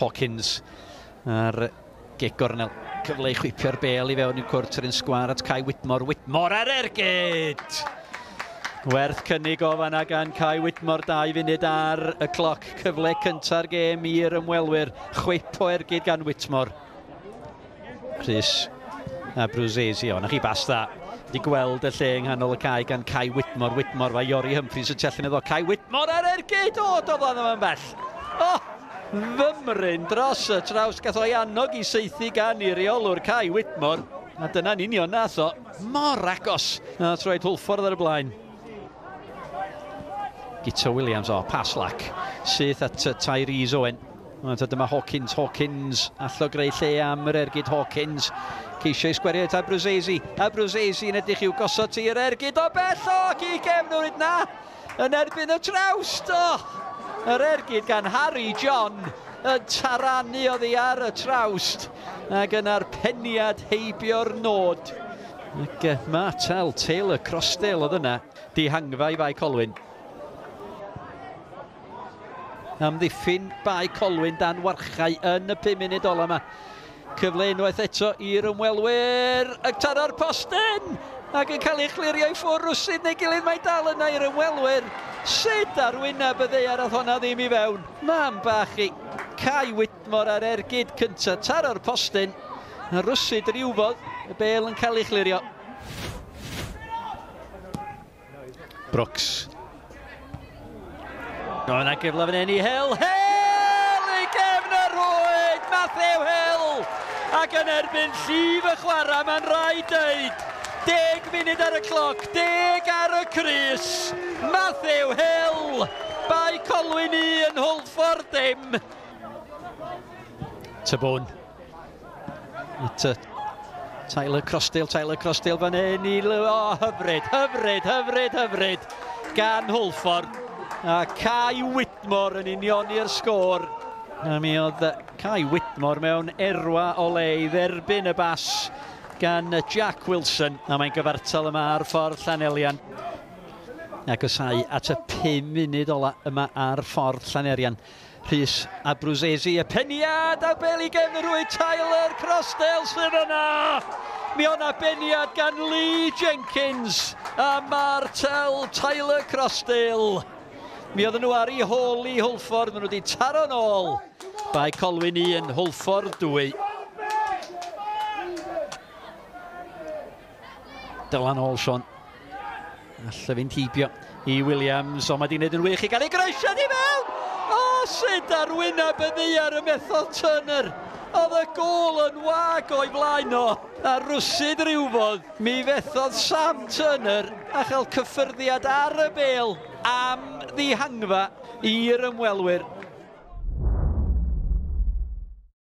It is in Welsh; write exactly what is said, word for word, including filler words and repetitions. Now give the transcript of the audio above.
Hawkins ar gic gornel. Cyfle i chwipio'r bel i fewn i'r cwrt yr un sgwar at Kai Whitmore. Whitmore ar ergyd! Werth cynnig o fanna gan Kai Whitmore, dau funud ar y cloc. Cyfle cynta'r gêm i'r ymwelwyr. Chwip o ergyd gan Whitmore. Rhys Abruzzese, o, na chi bas dda. Di gweld y lle yng nghanol y cae gan Kai Whitmore. Whitmore, mae Iori Humphreys yn tellyn iddo. Kai Whitmore ar ergyd! O, doedd o ddim yn bell. O, fymryn dros y traws. Gath o'i annog i saethu gan i reolwr Kai Whitmore. A dyna'n union nath o. Mor agos. A troed Hwlffordd ar y blaen. Guto Williams, o, pas lac. Syth at Tyrese Owen. A dyma Hawkins, Hawkins, allo greu lle am yr ergyd Hawkins. Ceisio i sgwerio at Abruzzese. Abruzzese yn edrych i'w gosod ti yr ergyd o bell, o, ac i gefnwyd na! Yn erbyn y trawst, o! Yr ergyd gan Harry John yn taranu oddi ar y trawst. Ac yna'r peniad heibio'r nod. Ac Martel Taylor Crossdale oedd yna. Dihangfa i Fae Colwyn. Amddiffyn Bae Colwyn dan warchau yn y pum munud ola yma. Cyfle unwaith eto i'r ymwelwyr. Ac taro'r postyn! Ac yn cael ei chlirio i ffwrdd rwsyd neu gilydd, mae dal yna i'r ymwelwyr. Sut ar wyneb y ddaear ath honna ddim i fewn? Mam bach i Kai Whitmore ar ergyd cyntaf. Taro'r postyn. Rwsyd rywfodd. Y bel yn cael ei chlirio. Brooks. O, yna gyfle fan hyn i Hill. Hill i gefn y rwyd! Matthew Hill! Ac yn erbyn llif y chwarae, mae'n rhaid dweud. Deg munud ar y cloc, deg ar y crys. Matthew Hill! Bae Colwyn un, Hwlffordd dim. Tybwn. At Tyler Crossdale, Tyler Crossdale fan hyn i... O, hyfryd, hyfryd, hyfryd, hyfryd. Gan Hwlffordd. A Kai Whitmore yn unioni'r sgôr. A mi oedd Kai Whitmore mewn erwa o le i dderbyn y bas gan Jack Wilson. A mae'n gyfartal yma ar ffordd Llanelian. Agosau at y pum munud ola yma ar ffordd Llanelian. Rhys Abruzzese, y peniad a bel i gefn y rwyd. Tyler Crossdale sydd yna! Mi o'na beniad gan Lee Jenkins a Martel Tyler Crossdale. Mi oedden nhw ar ei hôl i Hwlffordd, maen nhw wedi taro nôl. Bae Colwyn un, Hwlffordd dwy. Dylan ôl, Sean. Alla fynd heibio i Williams, ond mae di wneud yn wych i gael ei groesiad i mewn! O, sut ar wyneb y ddaear y methodd Turner. Oedd y gôl yn wag o'i flaen o. A rwsyd rywfodd, mi fethodd Sam Turner a chael cyffyrddiad ar y bel am ddihangfa i'r ymwelwyr.